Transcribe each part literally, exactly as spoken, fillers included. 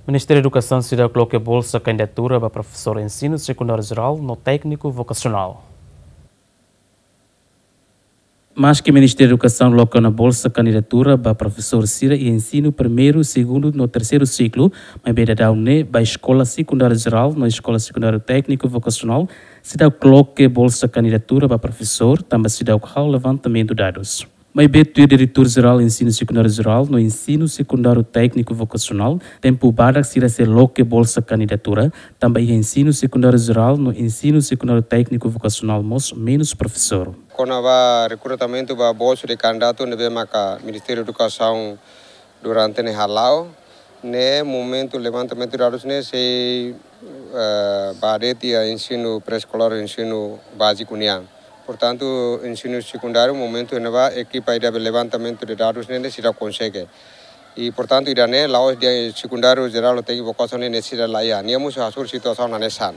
Ministériu Edukasaun seidauk loke bolsa kandidatura ba profesór ensinu sekundáriu jerál no tékniku vokasionál. Maski Ministériu Edukasaun loke ona bolsa kandidatura ba profesór sira iha ensinu primeiru, segundu no terseiru siklu, maibé daudaun ne'e ba eskola sekundáriu jerál no eskola sekundáriu tékniku vokasionál seidauk loke bolsa kandidatura ba profesór, tanba seidauk halo levantamentu dadus. Maibé tuir Diretór Jerál Ensinu Sekundáriu Jerál no Ensinu Sekundáriu Tékniku Vokasionál, tempu badak sira sei loke bolsa kandidatura, tanba iha ensinu sekundáriu jerál no ensinu sekundáriu tékniku vokasionál mós menus profesór. Kona-ba rekrutamentu ba bolsu de kandidatu ne'ebé maka Ministériu Edukasaun durante ne'e hala'o, ne'e momentu levantamentu dadus ne'e sei, eh, ba de'it iha ensinu pré-eskolár, ensinu báziku nian. Portantu, ensinu sekundáriu momentu ne'ebá ekipa ida be levantamentu de dadus ne'e, ne'e seidauk konsege. I, portantu, ida-ne'e la'ós de'it sekundáriu jerál ou tékniku vokasionál ne'e, ne'e seidauk la iha. Nia mós hasoru situasaun hanesan.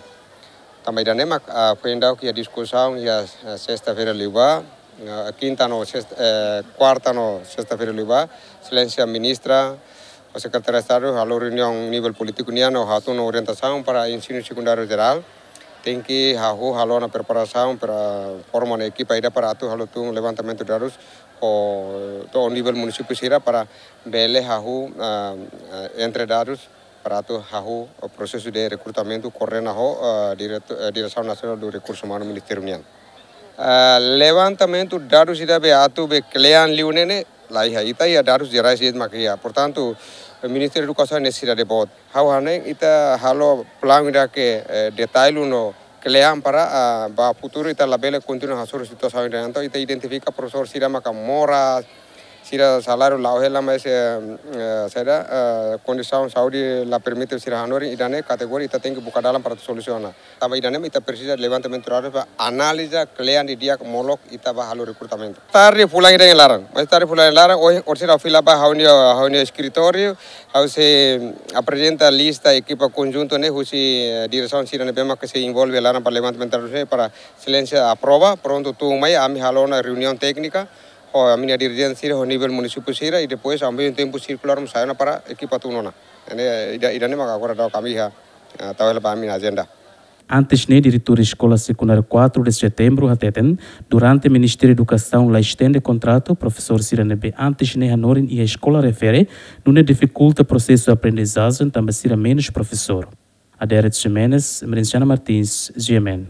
Tanba ida-ne'e mak, ah, foin daudauk iha diskusaun iha, ah, sesta-feira liubá, ah, kinta no sesta, eh, kuarta no sesta-feira liubá, Exelénsia Ministra ho Sekretáriu Estadu halo reuniaun nivel polítiku nian no hatún ona orientasaun para ensinu sekundáriu jerál. Tenke hahú halo ona preparasaun para forma ona ekipa ida para atu halo tun levantamentu dadus ho to'o nivel munisípiu sira para bele hahú, ah, ah, entre dadus para atu hahú, eh, prosesu de rekrutamentu koordena ho, eh, direto-, eh, Diresaun Nasionál do Rekursu Umanu Ministériu nian. Eh, levantamentu dadus ida be atu be kle'an liu ne'e, ne'e la iha, ita iha dadus jerais de'it mak iha. Portantu, eh, Ministériu Edukasaun ne'e sira de bot. Ha'u hanoin ita halo planu ida ke, eh, detalle no kle'an para, ah, ba futuru ita labele kontinua hasoru situasaun ida. Entaun ita identifika profesór sira maka moras, sira saláriu la'o hela, mas, eh, eh, saida, eh, kondisaun saúde la permite sira hanorin, ida-ne'e kategoria ita tenke buka dalan para solusiona. Tanba ida-ne'e ita presiza levantamentu dadus para analiza kle'an didi'ak molok ita ba halo rekrutamentu. Tarde fulan ida iha laran, mas tarde fulan iha laran, ohin, orsida fila ba ha'u-nia, ha'u-nia eskritóriu, ha'u sei aprezenta lista ekipa konjuntu ne'e husi, eh, diresaun sira ne'ebé maka sei envolve laran para levantamentu dadus ne'e para Exelénsia aprova, prontu tun mai, ami halo ona reuniaun téknika ho ami-nia dirijente sira ho nivel munisípiu sira, i depois ami tempu sirkulár mós sai ona para ekipa tun ona. Ne'e ida, ida-ne'e mak agora daudaun ami iha, ah, tau hela ba ami-nia ajenda. Antes ne'e, diretór Eskola Sekundária quatro de Setembro hateten, durante Ministériu Edukasaun la estende kontratu, profesór sira ne'ebé antes ne'e hanorin iha eskola refere, nune'e difikulta prosesu aprendizajen tanba sira menus profesór. Aderet Ximenes, Merenciana Martins, G M N.